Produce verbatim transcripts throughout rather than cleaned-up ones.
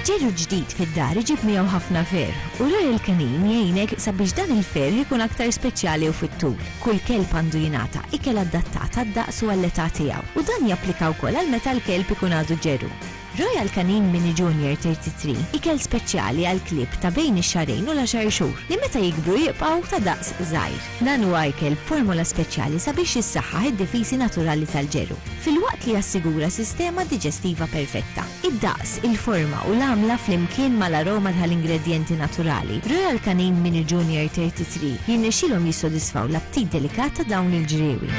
Ġeru ġdid fid-dar iġib miegħu ħafna ferħ u Royal Canin jgħinek sabiex dan il-ferħ ikun aktar speċjali u fit-tul. Kull kelb għandu jingħata ikel adattat għad-daqs u għall-età tiegħu u dan japplika wkoll għal meta l-kelb ikun għadu ġeru. Royal Canin Mini Junior thirty-three ikel speċjali għal klieb ta' bejn ix-xahrejn u l-għaxar xhur li meta jikbru jibqgħu ta' daqs żgħir. Dan huwa ikel b'formula speċjali sabiex jissaħħaħ id-difiżi naturali tal-ġeru, filwaqt li jassigura sistema diġestiva perfetta. Id-daqs, il-forma u l-għamla flimkien mal-aroma tal-ingredjenti naturali, Royal Canin Mini Junior thirty-three jirnexxilhom jissodisfaw l-aptit delikat ta' dawn il-ġriewi.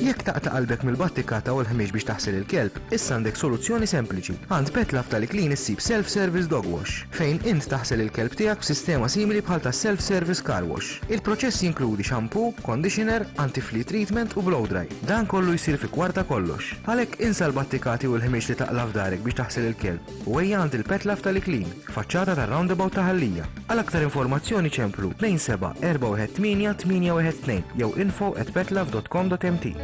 Jekk taqta' qalbek mill-battikata u l-ħmieġ biex taħsel il-kelb, issa għandek soluzzjoni sempliċi. Għand Petlove tal-Iklin issib self-service dog wash, fejn int taħsel il-kelb tiegħek b'sistema simili bħal ta' self-service car wash. Il-proċess jinkludi shampoo, conditioner, anti-flea treatment u blow dry. Dan kollu jsir fi kwarta kollox. Għalhekk insa l-battikati u l-ħmieġ li taqla' f'darek biex taħsel il-kelb u ejja għand il-Petlove tal-Iklin, faċċata tar-roundabout ta' Ħal Lija. Għal aktar informazzjoni ċemplu tnejn seba' erba' wieħed tmienja tmienja wieħed tnejn jew info at petlove dot com dot m t.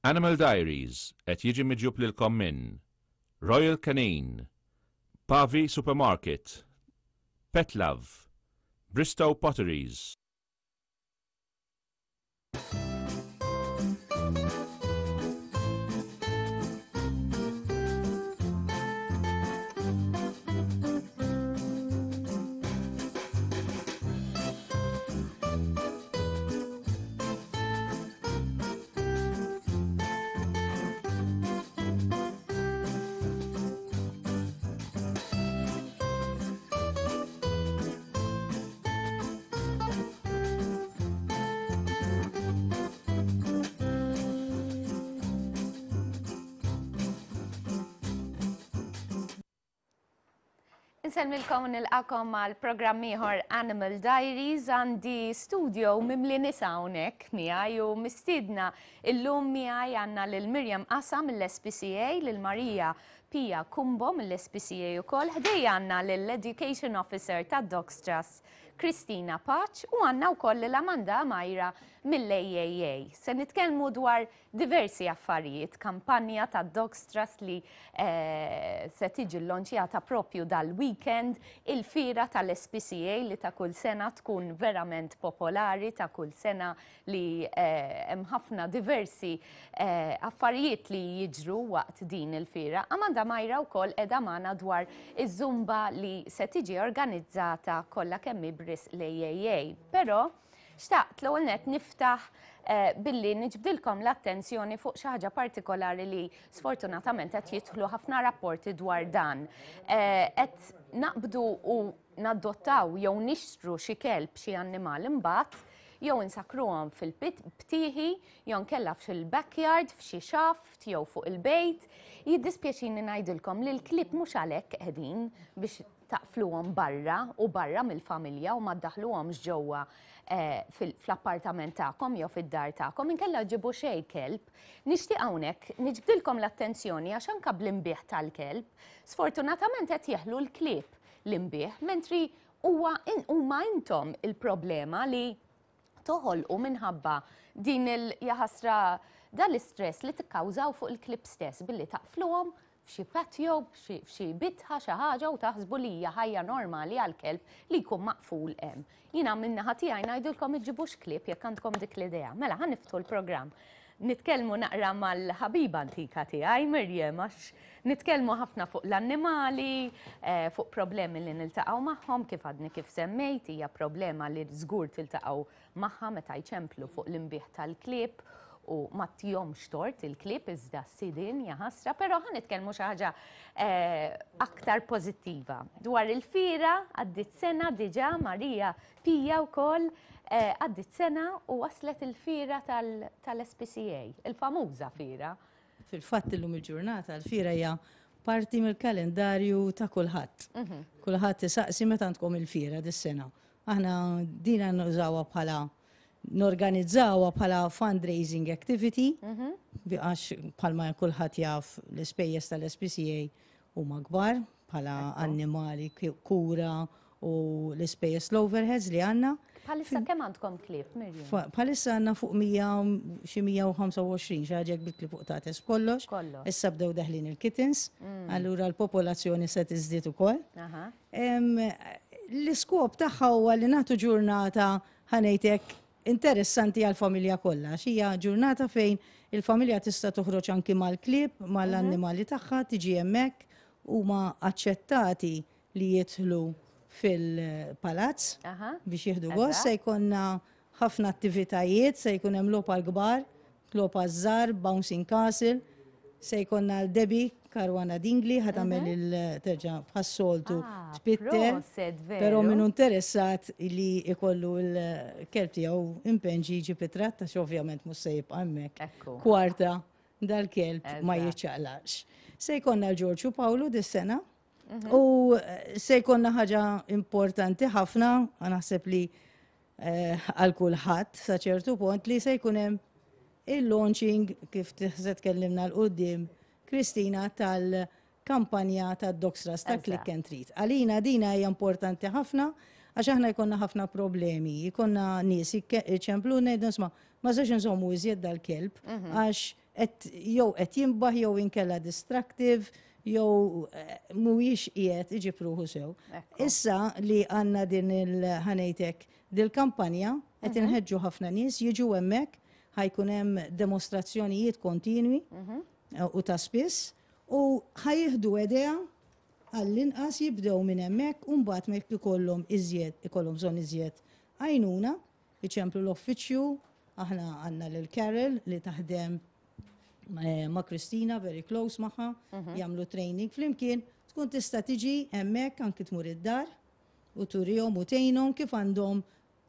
Animal Diaries qed jiġi miġjub lilkom minn Royal Canin, Pavi Supermarket, Petlove, Bristow Potteries. Insellmilkom u nilqakom għal programm ieħor Animal Diaries. Għandi studio mimli nisa hawnhekk miegħi u mistiedna illum miegħi għandna lil Miriam Qasa mill-S P C A, lil Maria Pia Cumbo mill-S P C A ukoll, ħdejja għandna lill-Education Officer ta' Dogs Trust Kristina Pace u għandna wkoll lil Amanda Amajra mill-A A A. Se nitkellmu dwar diversi affarijiet, kampanja ta' Dogs Trust li, eh, se tiġi llonċjata propju dal-weekend, il-fira tal-S P C A li ta' kull sena tkun verament popolari, ta' kull sena li, eh, hemm ħafna diversi, eh, affarijiet li jiġru waqt din il-fira. Amanda Majra wkoll qiegħda magħna dwar iż-Zumba li se tiġi organizzata kollha kemm ibris l-A A A. Però xtaqt l-ewwel nett niftaħ, eh, billi niġbdilkom l-attenzjoni fuq xi ħaġa partikolari li sfortunatament qed jidħlu ħafna rapporti dwar dan. Eh, qed naqbdu u nadottaw jew nixtru xi kelb, xi annimal imbagħad, jew insakruhom fil-btieħi, jew nkella fil-backyard, f'xi xaft, jew fuq il-bejt. Jiddispjaċini ngħidilkom li l-klieb mhux għalhekk qegħdin biex taqfluhom barra u barra mill-familja u ma ddaħluhomx ġewwa, eh, fil-, fl-appartament tagħkom jew fid-dar tagħkom, inkella ġibu xejn kelb. Nixtieq hawnhekk niġbdilkom l-attenzjoni għax anke bl-imbieħ tal-kelb, sfortunatament qed jeħlu l-klieb l-imbieħ, mentri huwa in-, huma intom il-problema li toħolqu minħabba din il-jaħasra dal-istress li tikkawżaw fuq il-klieb stess billi taqfluhom f'xi patio, f'xi, f'xi bitħa xi ħaġa u taħsbu li hija ħajja normali għall-kelb li jkun maqful hemm. Jiena min-naħa tiegħi ngħidulkom iġġibux klieb jekk għandkom dik l-idea. Mela ħa niftħu l-programm. Nitkellmu naqra mal-ħabiba antika tiegħi Miriam, għax nitkellmu ħafna fuq l-annimali, eh, fuq problemi li niltaqgħu magħhom, kif għadni kif semmejt, hija problema li żgur tiltaqgħu magħha meta jċemplu fuq l-imbieħ tal-klieb u ma tihomx tort il-klieb iżda s-sidien jaħasra, però ħa nitkellmu xi ħaġa, eh, aktar pożittiva. Dwar il-fira għaddit sena diġà Marija Pija wkoll, eh, għaddit sena u waslet il-fira tal-, tal-S P C A, il-famuża fira. Fil-fatt illum il-ġurnata l-fira hija parti mill-kalendarju ta' kulħadd. Mhm. Kulħadd isaqsi meta għandkom il-fira dis-sena. Aħna dina nużawha bħala norganizzawha bħala fundraising activity, Mhm. għax bħalma kulħadd jaf l-ispejjeż tal-S P C A huma kbar bħala Ekku. annimali, ki-, kura u l-ispejjeż, l-overheads li għandna. Bħalissa kemm għandkom klieb, Mirjam? Bħalissa għandna fuq mija, xi mija u ħamsa u għoxrin, xi ħaġa bil-klieb qtates kollox. Kollox. Issa bdew deħlin il-kittens, allura l-popolazzjoni se tiżdied ukoll. Aha. Em, L-iskop tagħha huwa li nagħtu ġurnata, ħa ngħidlek, interessanti għal-familja kollha. Hija ġurnata fejn il-familja tista' toħroġ anki mal-klieb, mal-annimali tagħha, tiġi hemmhekk, huma aċċettati li jidħlu fil-palazz Aha. biex jieħdu gost. Eżatt. Se jkollna ħafna attivitajiet, se jkun hemm logħob għall-kbar, logħob għaż-żgħar, bouncing castle, se jkollna l-Debbie Caruana Dingli ħa tagħmel il-terġa' bħas-soltu Ah, tpitter. proset, veru. Però min hu interessat li ikollu l-kelb tiegħu impenġi jiġi pitrat, għax ovvjament mhux se jibqa' hemmhekk. Ekku. Kwarta dal-kelb ma Eżatt. jiċċaqlax. Se jkollna l-Ġorġu Pawlu dis-sena u eh, se jkollna ħaġa importanti ħafna, naħseb li eh, għal kulħadd sa ċertu punt, li se jkun hemm il-launching, kif se tkellimna 'l quddiem Kristina, tal-kampanja tad-Dogs Trust ta' Eżatt. Click and Treat. Għalina dina hija importanti ħafna għax aħna jkollna ħafna problemi, jkollna nies iċemplu, ngħidu, "Isma', ma sax nżommu iżjed dal-kelb għax qed jew qed jinbaħ jew inkella destructive jew eh, mhuwiex qiegħed iġib ruħu sew." Ekku. Issa li għandna din il-ħa ngħidlek dil-kampanja, qed inħeġġu ħafna nies jiġu hemmhekk, ħa jkun hemm demostrazzjonijiet kontinwi eh, u ta' spiss u ħa jieħdu idea, għall-inqas jibdew minn hemmhekk, u mbagħad ma jekk ikollhom iżjed ikollhom bżonn iżjed għajnuna, iċemplu l-uffiċċju. Aħna għandna lil Carol li taħdem eh, ma' Kristina, very close magħha, jagħmlu training flimkien, tkun tista' tiġi hemmhekk, anki tmur id-dar u turihom u tgħinhom kif għandhom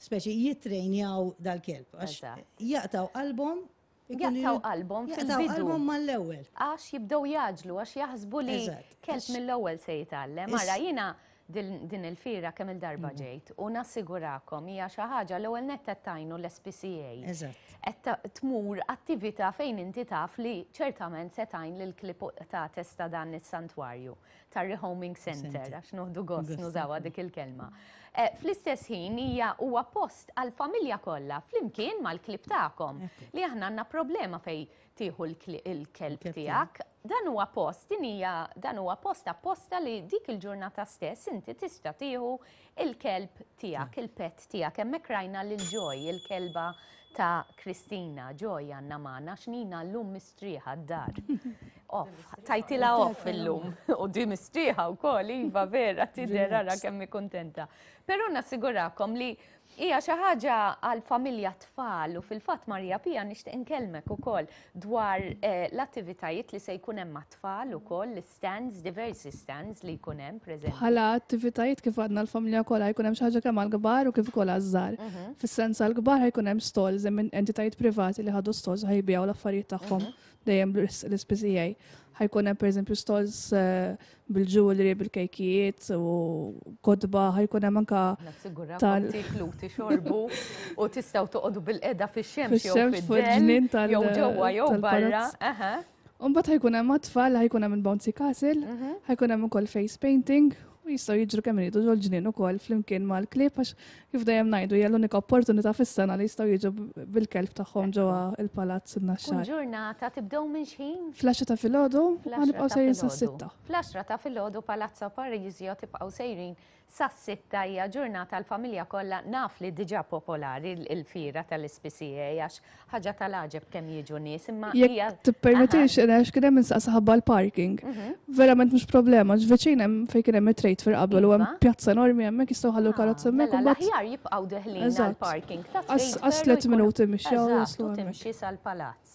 speċi jittrejnjaw dal-kelb. Għax Eżatt. jaqtaw qalbhom, ikunu Jaqtaw jrid- qalbhom jaqtaw fil-bidu. qalbhom mal-ewwel. Għax jibdew jgħaġġlu, għax jaħsbu li Eżatt. kelb Għax- mill-ewwel se jitgħallem. Is- Ara, jiena din din il-fira kemm il-darba ġejt u nassigurakom hija xi ħaġa, l-ewwel nett qed tgħinu l-S P C A. Eżatt. Qed ta- tmur attività fejn inti taf li ċertament se tgħin lil klieb qtates ta' dan is-santwarju tar-rehoming center, Center. għax noħdu gost Gost. nużawha dik il-kelma. Eh, Fl-istess ħin hija huwa post għal-familja kollha flimkien mal-klieb tagħkom, li aħna għandna problema fej tieħu l-kli- il-kelb Il-kelb tiegħek. Dan huwa post, din hija dan huwa post apposta li dik il-ġurnata stess inti tista' tieħu il-kelb tiegħek, il-pet tiegħek. Hemmhekk rajna lil Joy, il-kelba ta' Kristina. Joy għandna magħna x'nina llum mistrieħa d-dar. Off, tajtilha off illum. U di mistrieħa wkoll, iva vera, tidher, ara kemm hi kuntenta. Però nassigurakom li hija xi ħaġa għal familja, tfal, u fil-fatt Marija Pia nixtieq inkellmek ukoll dwar eh, l-attivitajiet li se jkun hemm mat-tfal ukoll, l-stands, diversi stands li jkun hemm preżenti. Bħala attivitajiet, kif għadna, l-familja kollha, jkun hemm xi ħaġa kemm għall-kbar u kif ukoll għaż-żgħar. Fis-sens għall-kbar ħajkun hemm stalls, hemm entitajiet privati li ħadu stalls, ħa jbigħu l-affarijiet tagħhom dejjem l-S P C A. Ħajkun hemm pereżempju stalls eh, bil-jewelry, bil-kejkijiet u kotba, ħajkun hemm anka Nassigurakom tal- tiklu, tixorbu u tistgħu toqogħdu bilqiegħda fix-xemx jew Fix-xemx fuq fid-dell, il-ġnien tal- jew ġewwa jew barra. tal-palazz. Aha. Umbagħad ħajkun hemm għat-tfal, ħajkun hemm il-bouncy castle, ħajkun hemm ukoll face painting u jistgħu jiġru kemm iridu ġol-ġnien ukoll flimkien mal-klieb, għax kif dejjem ngħidu, hija l-unika opportunità fis-sena li jistgħu jiġu bil-kelb tagħhom ġewwa il-palazz Kun in-Naxxar. ġurnata tibdew minn x'ħin? Fl-għaxra ta' filgħodu Fl-għaxra ħanibqgħu ta' sejrin filgħodu. sas-sitta. Fl-għaxra ta' filgħodu Palazzo Parisio, tibqgħu sejrin sas-sitta. Hija ġurnata l-familja kollha. Naf li diġà popolari il-fira tal-S P C A, għax ħaġa tal-għaġeb kemm jiġu nies, imma hija Jekk tippermettix, għax kien hemm insaqsa ħabba l-parking. Verament mhux problema, għax viċin hemm fejn kien hemm it-trade fair qabel u hemm Iva. pjazza enormi hemmhekk, jistgħu ħallu karozza hemmhekk u Mela mbagħad l-aħjar jibqgħu deħlin Eżatt. għal-parking ta' Għas- Trade għas Fair u tliet jkunu- minuti mixja u Eżatt, jaslu u hemmhekk. timxi sal-palazz.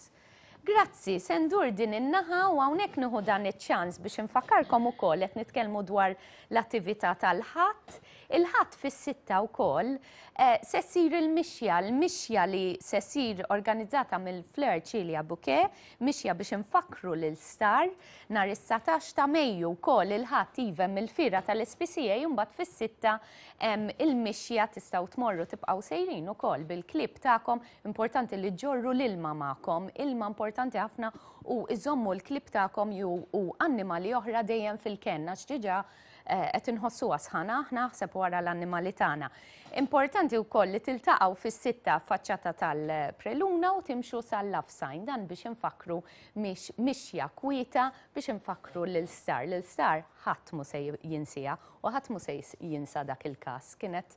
Grazzi, se ndur din in-naħa u hawnhekk nieħu dan iċ-ċans biex infakkarkom ukoll qed nitkellmu dwar l-attività tal-Ħadd. Il-Ħadd fis-sitta wkoll eh, se ssir il-mixja, l-mixja li se ssir organizzata mill-Fleur Cilia Bouquet, mixja biex infakru lil Star nhar is-satax ta' Mejju wkoll il-Ħadd, iva, mill-fira tal-S P C A, mbagħad fis-sitta hemm il-mixja, tistgħu tmorru tibqgħu sejrin ukoll bil-klieb tagħkom. Importanti li ġorru l-ilma magħkom, ilma importanti ħafna, u iżommu l-klieb tagħkom ju u annimali oħra dejjem fil-kenna għax diġà Qed inħossuha sħana aħna, aħseb wara l-annimali tagħna. Importanti wkoll li tiltaqgħu fis-sitta faċċata tal-Preluna u timxu sal-Love Sign, dan biex infakru mix mixja kwieta biex infakru lil Star. Lil Star ħadd mu se jinsija u ħadd mu se jinsa dak il-każ. Kienet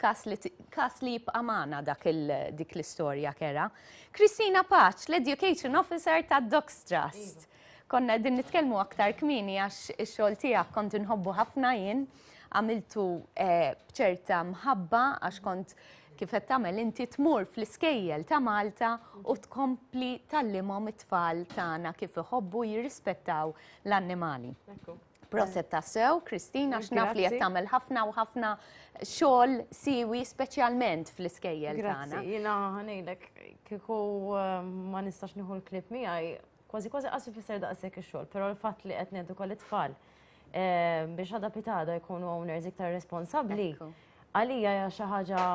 kas li, kas li jibqa' magħna dak il, dik l-istorja kera. Kristina Paċ, l-Education Officer ta' Dogs Trust. Konna din nitkellmu aktar kmieni għax ix-xogħol tiegħek kont inħobbu ħafna jien, għamiltu eh, b'ċerta mħabba għax kont kif qed tagħmel inti tmur fl-iskejjel ta' Malta u tkompli tgħallimhom it-tfal tagħna kif iħobbu jirrispettaw l-annimali. Proset tassew, Kristina, għax naf li qed Grazzi. tagħmel ħafna u ħafna xogħol siwi, speċjalment fl-iskejjel tagħna. Grazzi, jiena ħa ngħidlek, kieku eh, ma nistax nieħu l-klieb miegħi, kważi kważi qas ifisser daqshekk ix-xogħol, però l-fatt li qed neduka l-itfal eh, biex għada pitgħada jkunu owners iktar responsabbli, Ekku. għalija hija xi ħaġa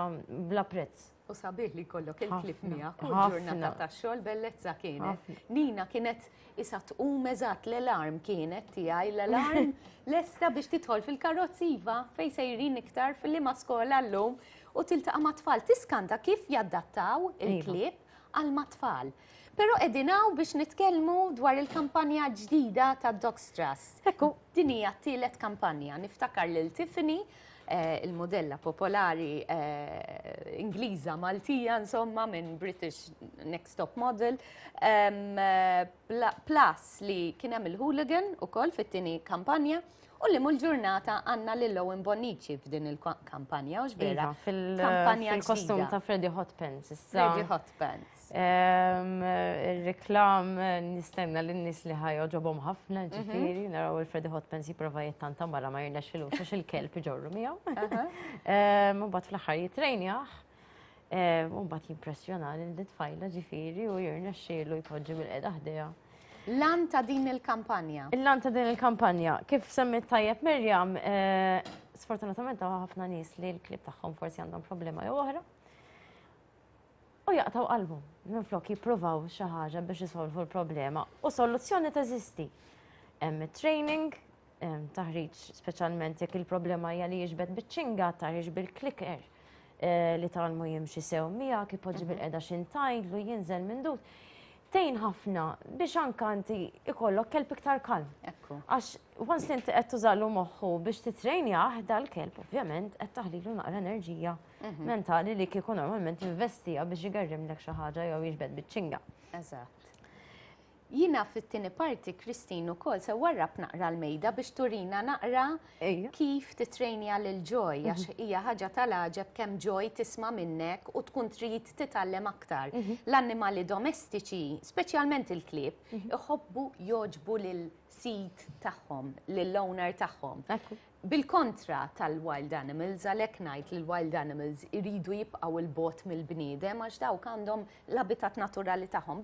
bla prezz. U sabiħ li jkollok il-klieb Ħafna, miegħek kull ħafna. ġurnata tax-xogħol, bellezza kienet. Ħafna. Nina kienet isa tqum eżatt l-alarm kienet tiegħi, l-alarm lesta biex tidħol fil-karozzi, iva, fejn sejrin iktar, fil-liema skola llum, u tiltaqa' ma' tfal, tiskanta kif jaddattaw il-klieb għal ma' tfal. Però qegħdin hawn biex nitkellmu dwar il-kampanja ġdida ta' Dogs Trust. Ekku. Din hija t-tielet kampanja. Niftakar lil Tiffany, eh, il-modella popolari eh, Ingliża Maltija, insomma, minn British Next Top Model, em, eh, pla- plus li kien hemm il-hooligan ukoll fit-tieni kampanja, u li mul-ġurnata għandna lil Owen Bonnici f'din il-kampanja, u vera? Iva, fil- Kampanja fil-kostum ġdida. ta' Freddy Hot Pants. Issa. Freddy Hot Pants. Em, Il-reklam eh, nistenna l-nies li ħa jogħġobhom ħafna, ġifieri, naraw il-Freddy Hot Pants jipprova jittanta mara ma jirnexxilux għax il-kelb iġorru miegħu. Em, U mbagħad fl-aħħar jitrejnjah, em, u mbagħad jimpressjona lil tfajla, ġifieri, u jirnexxielu jpoġġi bil-qeda ħdejha. L-għan ta' din il-kampanja. Il-għan ta' din il-kampanja, kif semmit tajjeb Mirjam, eh, sfortunatament hawn ħafna nies li l-klieb tagħhom forsi għandhom problema jew oħra. U jaqtaw qalbhom minflok jippruvaw xi ħaġa biex isolvu l-problema. U soluzzjoni teżisti. Hemm training, hemm taħriġ, speċjalment jekk il-problema hija li jiġbed biċ-ċinga, taħriġ bil-clicker eh, li tgħallmu jimxi sew miegħek, ipoġġi bil-qeda x'intajdlu, jinżel minn dut. Tgħin ħafna biex anka inti ikollok kelb iktar kalm. Ekku. Għax once li inti qed tużalu moħħu biex titrejnjah dal-kelb, ovvjament qed taħlilu naqra enerġija mentali li kieku normalment investija biex jgarrimlek xi ħaġa jew jiġbed biċ-ċinga. Eżatt. Jiena fit-tieni parti, Christine, ukoll se warrab naqra l-mejda biex turina naqra Ejja. kif titrejnja lil Joy, għax hija ħaġa tal-għaġeb kemm Joy tisma' minnek u tkun trid titgħallem aktar. L-annimali domestiċi, speċjalment il-klieb, iħobbu jogħġbu lil sid tagħhom, lill-owner tagħhom. Ekku. Bil-kontra tal-wild animals, għalhekk ngħid li l-wild animals iridu jibqgħu 'il bogħod mill-bniedem għax dawk għandhom l-abitat naturali tagħhom.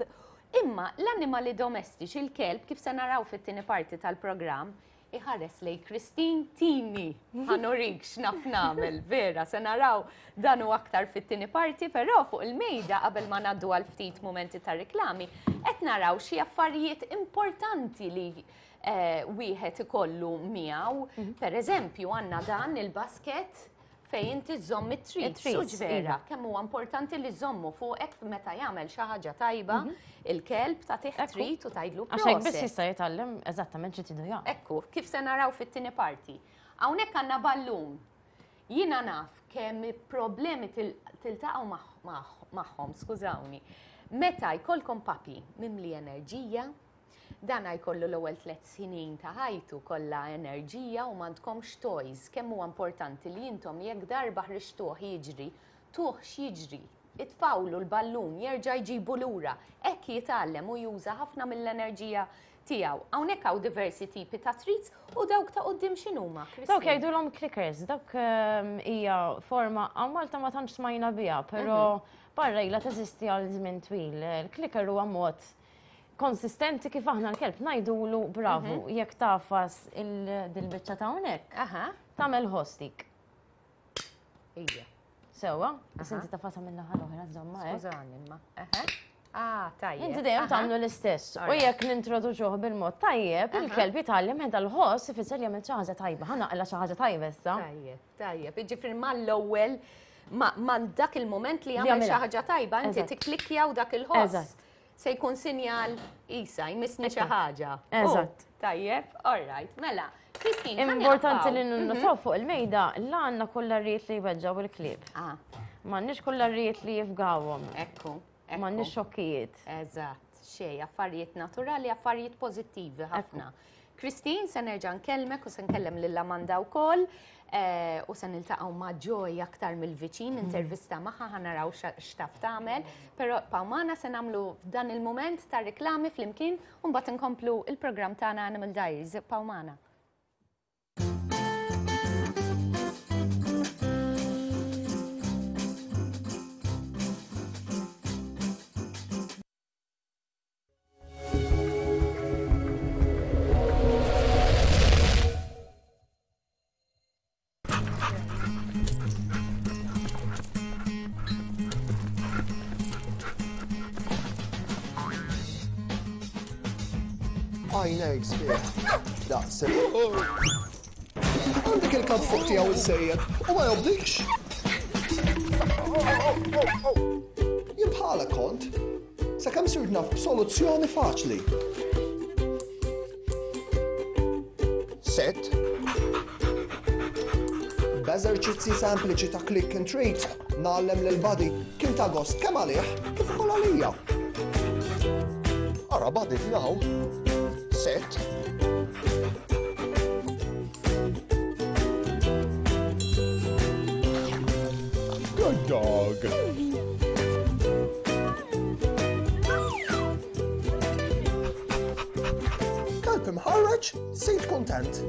Imma l-annimali domestiċi, il-kelb, kif se naraw fit-tieni parti tal-programm, iħares lej Christine, "Tini, ħa nurik x'naf nagħmel", vera, se naraw dan u aktar fit-tieni parti, però fuq il-mejda, qabel ma ngħaddu għal ftit momenti ta' reklami, qed naraw xi affarijiet importanti li eh, wieħed ikollu miegħu. Per eżempju, għandna dan il-basket fejn inti żomm it-treats. It-treats, U vera, iva. kemm huwa importanti li żommu fuqek meta jagħmel xi ħaġa tajba, il-kelb tagħtih Ekku. treat u tgħidlu Għax hekk biss proset. jista' jitgħallem eżattament xi tridu jagħmel. Ekku, kif se naraw fit-tieni parti. Hawnhekk għandna ballun. Jiena naf kemm problemi til- tiltaqgħu magħ- magħ- magħhom, skużawni. Meta jkollkom puppy mimli enerġija, dan jkollu l-ewwel tliet snin ta' ħajtu kollha enerġija u m'għandkomx toys. Kemm huwa importanti li intom jekk darba ħriġtuh jiġri, tuh x'jiġri, itfgħulu l-ballun, jerġa' jġibu lura. Hekk jitgħallem u juża ħafna mill-enerġija tiegħu. Hawnhekk hawn diversi tipi ta' treats, u dawk ta' quddiem x'inhuma, Dawk Christine? jgħidulhom clickers, dawk ehm, hija forma hawn Malta ma tantx smajna biha, però barra ilha teżisti għal żmien twil. Il-clicker huwa mod konsistenti kif aħna l-kelb ngħidulu bravu, jekk tagħfas il-dil-biċċa ta' hawnhekk, Aha, tagħmel ħoss dik. ija. Sewwa, bas inti tagħfasha minn naħa l-oħra, żomma hekk. Skużani imma. Aha. Ah, tajjeb. Inti dejjem tagħmlu l-istess. U jekk nintroduċuh bil-mod tajjeb, il-kelb jitgħallem meta l-ħoss ifisser li għamilt xi ħaġa tajba, ħa naqla xi ħaġa tajba issa. Tajjeb, tajjeb. Jiġifieri mal-ewwel ma dak il-moment li għamel xi ħaġa tajba, inti tikklikkja u dak il-ħoss. Se jkun sinjal isa, jmissni xi ħaġa. Eżatt. Tajjeb, all right, mela. Christine, importanti li ninnotaw fuq il-mejda, la għandna kollarijiet li jweġġgħu il-klieb. M'għandniex kollarijiet li jifgawhom. Ekku. M'għandniex xokkijiet. Eżatt, xej, affarijiet naturali, affarijiet pożittivi ħafna. Christine, se nerġa' nkellmek u se nkellem lil Amanda wkoll u se niltaqgħu ma' Joy aktar mill-viċin, intervista magħha ħa naraw x'taf tagħmel, però Pawmana se nagħmlu f'dan il-mument ta' riklami flimkien u mbagħad inkomplu il-programm tagħna Animal Diaries. Pawmana. Għajnejk sbieħ. Daqs. Għandek il-kap fuq tiegħu is-sejjed u ma jobdikx. Jien bħalek kont. Sakemm sirt naf b'soluzzjoni faċli. Set. B'eżerċizzi sempliċi ta' click and treat ngħallem lil Buddy kien ta' gost kemm għalih kif ukoll għalija. Ara Buddy f'naw. Set. Good dog. Kalb imħarreġ, sid kontent.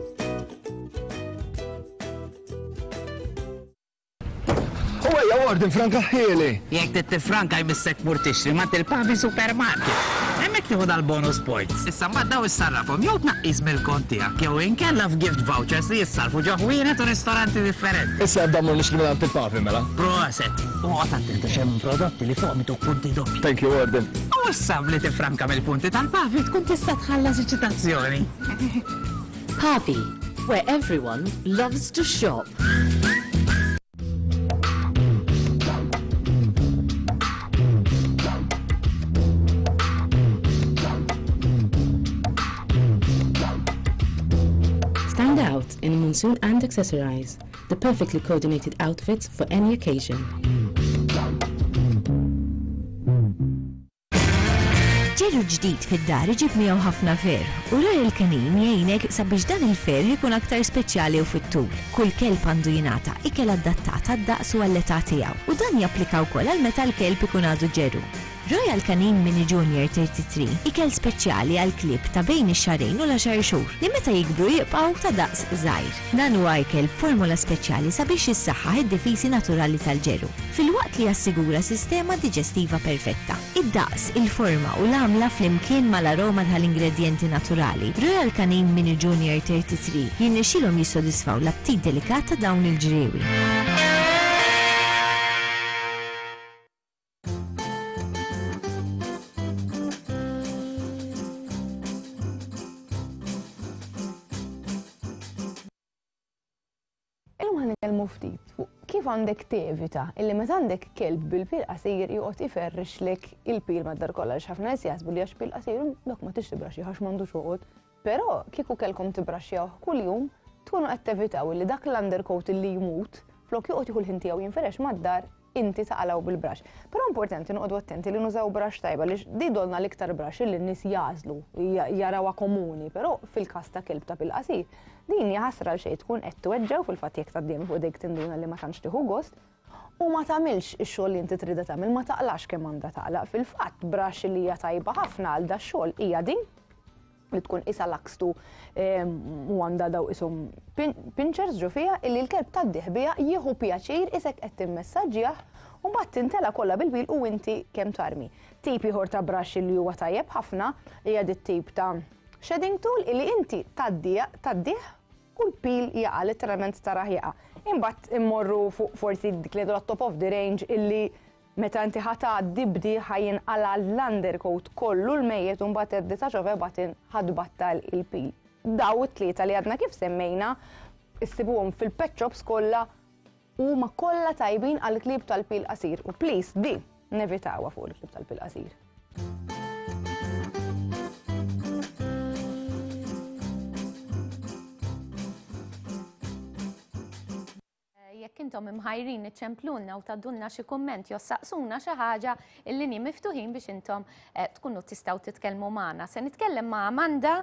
Ejja, Warden, franka ħieli. Jekk tifranka jmissek mur tixtri ma til-Pavi Supermarket. Hemmhekk tieħu dal-bonus points. Issa mbagħad daw issarrafhom jew tnaqqis mill-kont tiegħek jew inkella f'gift vouchers li jissarfu ġo ħwienet u ristoranti differenti. Issa ebda mmur nixtri minn il-Pavi mela. Proset, u qgħod attent għax hemm prodotti li fuqhom ituk punti doppji. Thank you, Warden. U issa bli tifranka mill-punti tal-Pavi tkun tista' tħallas iċ-ċitazzjoni. Pavi, where everyone loves to shop. Stand out in Monsoon and Accessorize, the perfectly coordinated outfits for any occasion. Ġeru ġdid fid-dar iġib miegħu ħafna ferħ u Royal Canin jgħinek sabiex dan il-ferħ ikun aktar speċjali u fit-tul. Kull kelb għandu jingħata ikel adattat għad-daqs u għall-età tiegħu u dan japplika wkoll għal meta l-kelb ikun għadu ġeru. Royal Canin Mini Junior thirty-three ikel speċjali għal klieb ta' bejn ix-xahrejn u l-għaxar xhur li meta jikbru jibqgħu ta' daqs żgħir. Dan huwa ikel b'formula speċjali sabiex jissaħħaħ id-difiżi naturali tal-ġeru, filwaqt li jassigura sistema diġestiva perfetta. Id-daqs, il-forma u l-għamla flimkien mal-aroma tal-ingredjenti naturali, Royal Canin Mini Junior thirty-three jirnexxilhom jissodisfaw l-aptit delikat ta' dawn il-ġriewi. Ftit fuq kif għandek tevita illi meta għandek kelb bil-pil qasir joqgħod iferrixlek il-pil mad-dar kollha għax ħafna nies jaħsbu li għax pil qasir dak ma tix tibraxxih għax m'għandux joqgħod. Però kieku kellkom tibraxxjawh kuljum tkunu qed tevitaw illi dak l-undercoat illi jmut flok joqgħod jieħu l-ħin tiegħu jinferex mad-dar inti taqalgħu bil-brax. Però importanti noqogħdu attenti li nużaw brax tajba li di dolna l-iktar brax li n-nies jażlu, jarawha komuni, però fil-każ ta' kelb ta' pil qasir din hija ħasra għal xejn tkun qed tweġġew fil-fatt jekk tgħaddiem fuq dejk tinduna li ma tantx tieħu gost u ma tagħmilx ix-xogħol li inti tridha tagħmel, ma taqlax kemm għandha taqlaq. Fil-fatt brax li hija tajba ħafna għal da xogħol hija din li tkun isa lakstu u għandha daw ishom pinchers ġo fiha illi l-kelb tgħaddih biha jieħu pjaċir isek qed timmessaġġjah u mbagħad tintela kollha bil-bil u inti kemm tarmi. Tip ieħor ta' brax li huwa tajjeb ħafna hija dit tip ta' shedding tool illi inti tgħaddih u l-pil jaqa' letteralment tarah jaqa'. Imbagħad immorru fuq forsi dik li top of the range illi Meta inti ħa tgħaddi b'di ħa jinqala l-undercoat kollu l-mejjet u mbagħad at the touch of a button ħa tbattal il-pil. Daw it-tlieta li għadna kif semmejna issibuhom fil-pet shops kollha u ma kollha tajbin għal klieb tal-pil qasir. U please di nevitawha fuq il-klieb tal-pil qasir. Jekk intom imħajrin iċċemplunna u tgħaddulna xi kumment jew saqsuna xi ħaġa, il-linji miftuħin biex intom eh, tkunu tistgħu titkellmu magħna. Se nitkellem ma' Amanda,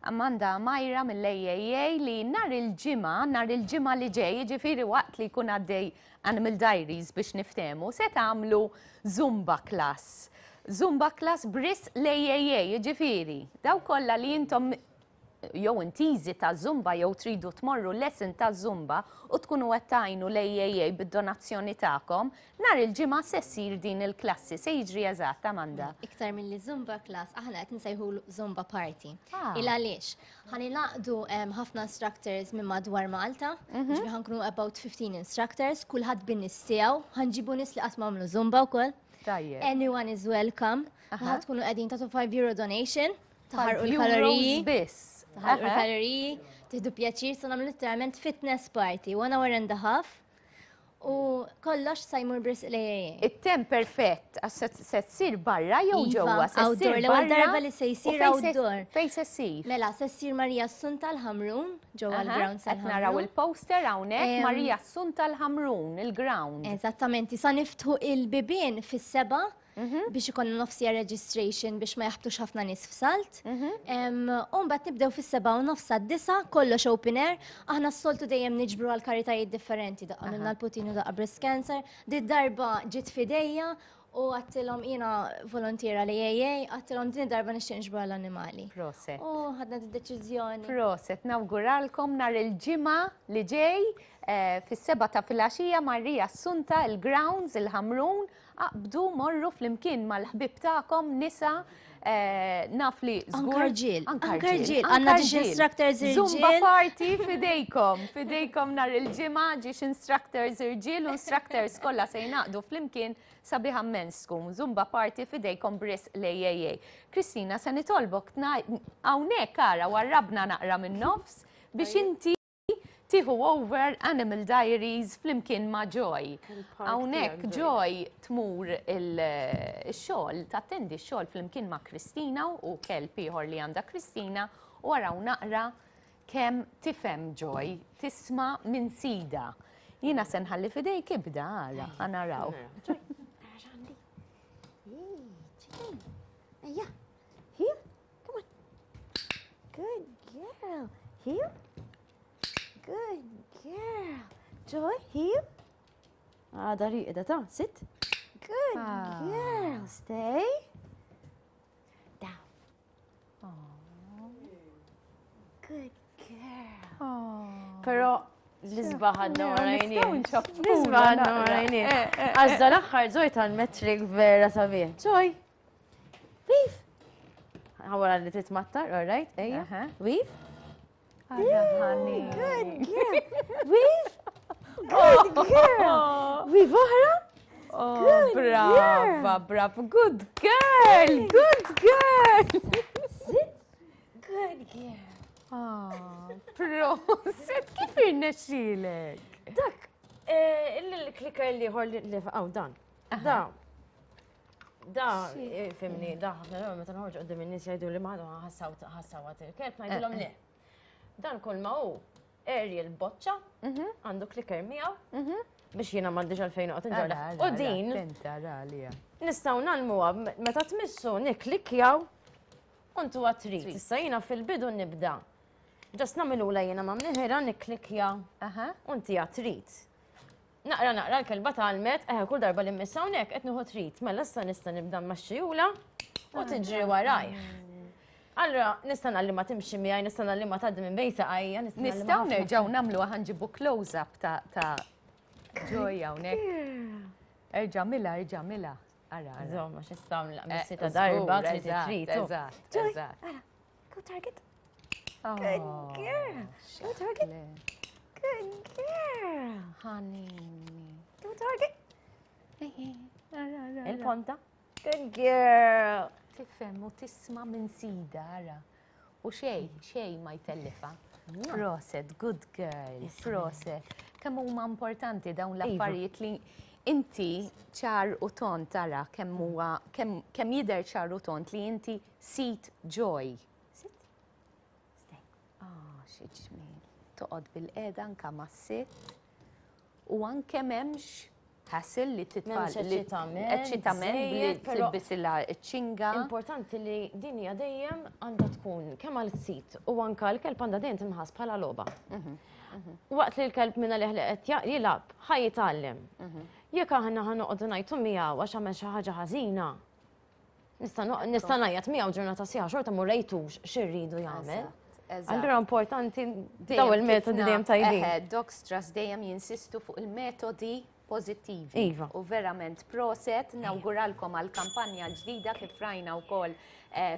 Amanda Majra mill-A A A li nhar il-ġimgħa, nhar il-ġimgħa li ġej, jiġifieri waqt li jkun għaddej Animal Diaries biex niftehmu, se tagħmlu Zumba class. Zumba class b'risq l-A A A, jiġifieri. Daw kollha li intom jew intiżi ta' Zumba jew tridu tmorru lesson ta' Zumba u tkunu qed tgħinu l-A A A bid-donazzjoni tagħkom, nhar il-ġimgħa se ssir din il-klassi. Se jiġri eżatt, Amanda? Iktar mill-li Zumba class, aħna qed nsejħu Zumba party. Ah. Il għaliex, ħa ningħaqdu em, ħafna instructors minn madwar Malta, Mhm. ġifieri ħa nkunu about fifteen instructors, kulħadd bin-nies tiegħu, ħa nġibu nies li qatt m'għamlu Zumba wkoll. Tajjeb. Anyone is welcome. Aha. Ħa tkunu qegħdin tagħtu five euro donation, taħarqu Five l-kaloriji. euros biss. Taħarqu Aha. l-kaloriji, tieħdu pjaċir, sa nagħmlu literalment fitness party, one hour and a half. U kollox sa jmur b'risq l-A A A. It-temp perfett, għax se- se tsir barra jew Iva, ġewwa? Se ssir outdoor, l-ewwel barra? darba li se jsir U fejn se- outdoor. Fejn se ssir? Mela, se ssir Marija Assunta l-Ħamrun, ġewwa Aha, l-ground Qed naraw tal-Ħamrun. il-poster hawnhekk Em, Marija Assunta l-Ħamrun, il-ground. Eżattament, sa niftħu il-bibien fis-seba Mhm. biex ikollna nofsija registration biex ma jaħbtux ħafna nies f'salt. Mhm. Em, U mbagħad nibdew fis-seba u nofs disa, kollox open air. Aħna s-soltu dejjem niġbru għal karitajiet differenti, daqqa minna l-Putin u daqqa breast cancer. Di darba ġiet fidejja u għedtilhom jiena volontiera l-A A A, għedtilhom din darba nixtieq niġbru għall-annimali. Proset. U ħadna d-deċiżjoni. Proset, nawguralkom nhar il-ġimgħa li ġej eh, fis-seba ta' filgħaxija Marija Assunta, il-grounds, il-Ħamrun, aqbdu morru flimkien mal-ħbib tagħkom nisa eh, naf li żgur. Anka rġiel, Anka anka rġiel, rġiel. anka Għandna ġiex rġiel. instructors Zumba irġiel. party fidejkom, fidejkom nhar il-ġimgħa ġiex instructors irġiel u instructors kollha se jingħaqdu flimkien sabiħa immens tkun. Zumba party fidejkom b'risq l-A A A. Kristina, se nitolbok hawnhekk ara warrabna naqra minn nofs biex inti tieħu over Animal Diaries flimkien ma' Joy. Hawnhekk tiegħek, Joy tmur il-xogħol, tattendi x-xogħol flimkien ma' Kristina u kelb ieħor li għandha Kristina u araw naqra kemm tifhem Joy, tisma' minn sida. Jiena se nħalli fidejk ibda ara, ħa naraw. Ejja, here, come on. Good girl. Here. Good girl. Joy, here. Għada riqda ta' sit. Good Ah. girl. Stay. Down. Good girl. Pero l-isbaħ għadna ma rajniex. L-isbaħ għadna ma rajniex. Għax dal-aħħar Joy tal-metrik vera sabiħ. Joy, weave. Għawara li titmattar, all right, ejja. Weave. Honey. Good girl. Weave. Good girl. Weave oħra. Oh, Good brava, girl. brava. Good girl, good girl. Sit. Good girl. Ah, proset, kif irnexxielek? Dak, eh, il-clicker li ħor li għaw dan. Da. Da, eh, fimni, da, ħafna drabi meta noħorġu qudiem in-nies jgħidu li ma ħassaw ħassawat il-kelb, ngħidilhom le. Dan kull ma hu aerial boċċa, għandu clicker miegħu, biex jiena m'għandix għalfejn noqgħod inġorra. U din nistgħu nagħlmuha meta tmissu nikklikjaw u ntuha treat. Issa jiena fil-bidu nibda. Just nagħmilula jiena ma' mniħira nikklikja u ntiha treat. Naqra naqra l-kelba tgħallmet, eħe kull darba li mmissa hawnhekk qed nieħu treat. Mela issa nista' nibda mmaxxijula u tiġri warajh. Allora, nista' ngħallimha timxi miegħi, nista' ngħallimha tgħaddi minn bejn saqajja, nista' ngħallimha Nistgħu ħafna. nerġgħu nagħmlu ħa nġibu close-up ta' ta' Joy hawnhekk. Erġa' mila, erġa' mila. Ara, ara. Insomma, x'issa Eh, missita darba, żgur, trid eżatt, trid. Eżatt, Joy, eżatt. ara, go target. Oh, Good girl. Go target. Good girl. Honey. Go target. Il-ponta. Good girl. Tifhem u tisma' minn sida, ara. U xej, xej ma jtellifa. Proset, good girl, proset. Kemm huma importanti dawn l-affarijiet li inti ċar u tond tara kemm huwa kemm jidher ċar u tond li inti sit joy. Sit? Stay. Ah, xi ġmiel. Toqgħod bil-qiegħda anke mas-sitt u anke m'hemmx hassle li titfal. Eċċitament li tilbisilha ċ-ċinga. Importanti li din hija dejjem għandha tkun kemm għal-sit u anke l-kelb għandha dejjem tinħass bħala logħba. Waqt li l-kelb minna li qed jilgħab ħa jitgħallem. Jekk aħna ħa noqogħdu ngħidu miegħu għax għamel xi ħaġa ħażina, nista' ngħajjat miegħu ġurnata sħiħa xorta ma rejtux x'irridu jagħmel. Allura importanti daw il-metodi dejjem tajbin. Dogs Trust dejjem jinsistu fuq il-metodi pozittivi. Iva. U verament proset, nawguralkom għal-kampanja l-ġdida kif rajna wkoll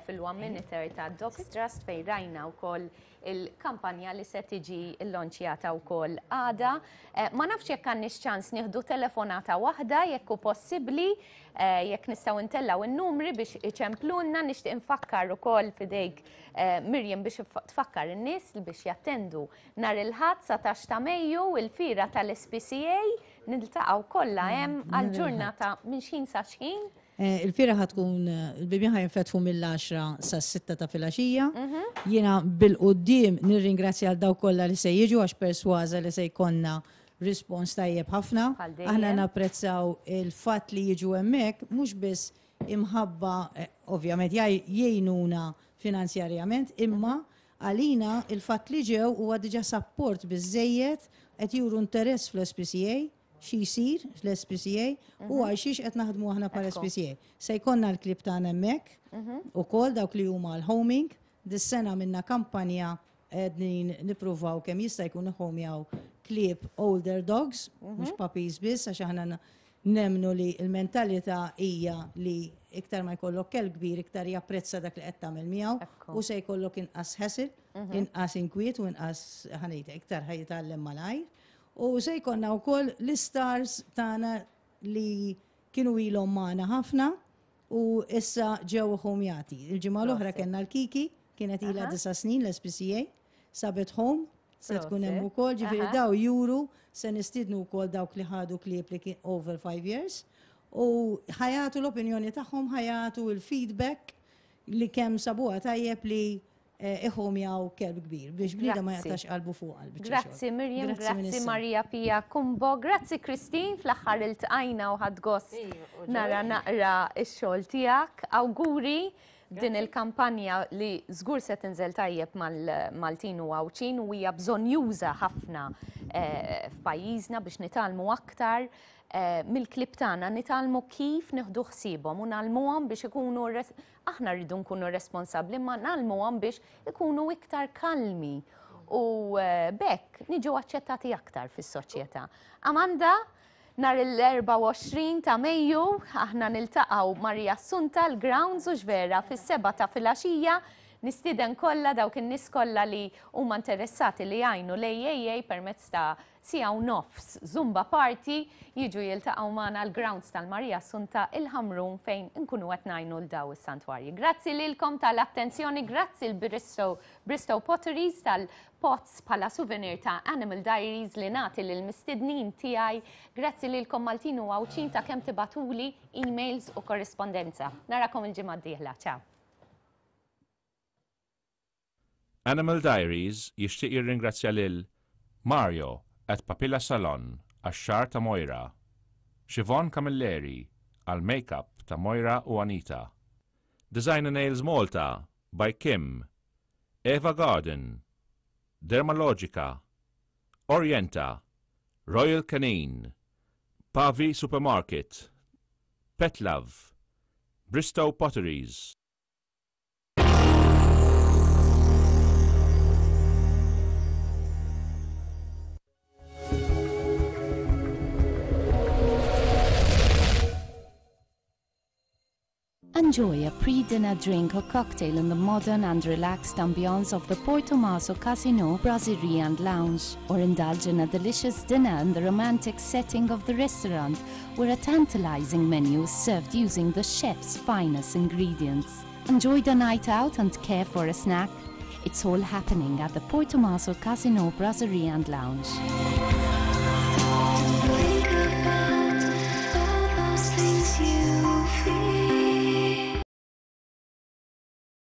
fil-One Minute ta' Dogs Trust fejn rajna wkoll il-kampanja li se tiġi llonċjata wkoll għada. Ma nafx jekk għandniex ċans nieħdu telefonata waħda jekk hu possibbli, jekk nistgħu ntellgħu n-numri biex iċemplunna. Nixtieq infakkar ukoll fidejk Miriam biex tfakkar in-nies biex jattendu nhar il-Ħadd satax ta' Mejju il-fira tal-S P C A. Niltaqgħu kollha hemm għal-ġurnata minn xħin sa xħin. Il-fira ħatkun, il-bibien ħajnfetħu mill-għaxra sas-sitta ta' filgħaxija. Jiena bil-quddiem nirringrazzja għal dawk kollha li se jiġu għax persważa li se jkollna rispons tajjeb ħafna. Bħal dejjem. Aħna napprezzaw il-fatt li jiġu hemmhekk mhux biss imħabba, ovvjament jgħinuna finanzjarjament, imma għalina il-fatt li ġew huwa diġà sapport biżżejjed qed juru interess fl-S P C A, xi jsir fl-S P C A u għal xiex qed naħdmu aħna bħala Ekku. S P C A. Se jkollna l-klib tagħna hemmhekk ukoll dawk li huma l-homing. Dis-sena minna kampanja qegħdin nippruvaw kemm jista' jkun iħomjaw klieb older dogs, mhux puppies biss, għax aħna na-, nemnu li l-mentalità hija li iktar ma jkollok kelb kbir, iktar japprezza dak li qed tagħmel miegħu Ekku. u se jkollok inqas hassle, inqas inkwiet u inqas ħanejta, iktar ħajjitgħallem malajr. U se jkollna wkoll l-istars tagħna li kienu ilhom magħna ħafna u issa ġew ħomjati. Il-ġimgħa l-oħra Proset. kellna l-Kiki, kienet ilha Aha. disa' snin l-S P C A, sabet home, se tkun hemm Proset. ukoll, ġifieri Aha. daw juru se nistiednu wkoll dawk li ħadu klieb li kien over five years u ħajatu l-opinjoni tagħhom, ħajatu l-feedback li kemm sabuha tajjeb li iħomjaw kelb kbir biex bniedem ma Grazzi. jaqtax qalbu fuq qalb biċċa Grazzi xogħol. Miriam, Grazzi, grazzi Ministru. Maria Pia Cumbo, grazzi Christine, fl-aħħar iltqajna u ħadd gost Iju, u nara ġoj. naqra x-xogħol tiegħek. Awguri din il-kampanja li żgur se tinżel tajjeb mal-Maltin u Għawdxin u hija bżonjuża ħafna, eh, f'pajjiżna biex nitgħallmu aktar, eh, mill-klib tagħna, nitgħallmu kif nieħdu ħsiebhom u ngħallmuhom biex ikunu res-, aħna rridu nkunu responsabbli, ma ngħallmuhom biex ikunu iktar kalmi u, eh, bekk niġu aċċettati aktar fis-soċjetà. Amanda, nhar l-erbgħa u għoxrin ta' Mejju aħna niltaqgħu Maria Assunta l-Grounds u ġvera fis-seba' ta' filgħaxija. Nistieden kollha dawk in-nies kollha li huma interessati li jgħinu l-A A A permezz ta' siegħa u nofs Zumba Party jiġu jiltaqgħu magħna l-Grounds tal-Maria Assunta il-Ħamrun fejn inkunu qed ngħinu l daw is-santwarji. Grazzi lilkom tal-attenzjoni, grazzi l-Bristow Bristow Potteries tal-pots bħala souvenir ta' Animal Diaries li nagħti lill-mistednin tiegħi. Grazzi lilkom Maltin u Għawdxin ta' kemm tibatuli emails u korrispondenza. Narakom il-ġimgħa d-dieħla. Ciao. Animal Diaries jixtieq jirringrazzja lil Mario at Papilla Salon għax-xagħar ta' Moira, Siobhan Camilleri għal make-up ta' Moira u Anita, Designer Nails Malta by Kim, Eva Garden, Dermalogica, Orienta, Royal Canin, Pavi Supermarket, Pet Love, Bristow Potteries. Enjoy a pre-dinner drink or cocktail in the modern and relaxed ambience of the Portomaso Casino, Brasserie and Lounge, or indulge in a delicious dinner in the romantic setting of the restaurant, where a tantalizing menu is served using the chef's finest ingredients. Enjoy the night out and care for a snack. It's all happening at the Portomaso Casino, Brasserie and Lounge.